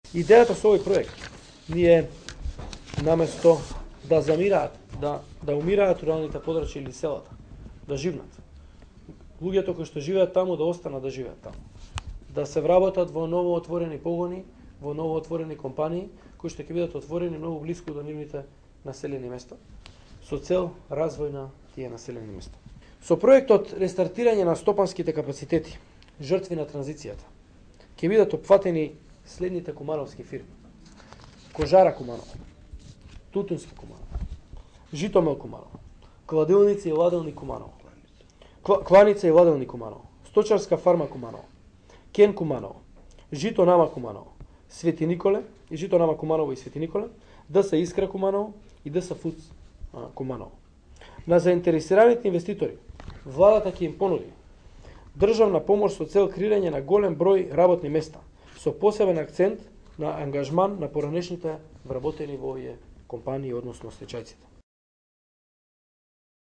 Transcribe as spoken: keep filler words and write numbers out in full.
Идејата со овој проект ние наместо да замираат, да да умираат руралните подрачја или селата, да живнат. Луѓето кои што живеат таму да останат да живеат таму. Да се вработат во ново отворени погони, во ново отворени компании кои што ќе бидат отворени многу блиску до нивните населени места со цел развој на тие населени места. Со проектот рестартирање на стопанските капацитети, жртви на транзицијата, ќе бидат опфатени следните кумановски фирми: Кожара Куманово, Тутунски Куманово, Житомел Куманово, Кладилница и ладелни Куманово, Кланица и ладелни Куманово, Сточарска фарма Куманово, Кен Куманово, Жито Нама Куманово, Свети Николе и Жито Нама Куманово и Свети Николе, ДС Искра Куманово и ДС Фудс Куманово. На заинтересираните инвеститори владата ќе им понуди државна помош со цел креирање на голем број работни места, со посебен акцент на ангажман на поранешните вработени во овие компании, односно стечајците.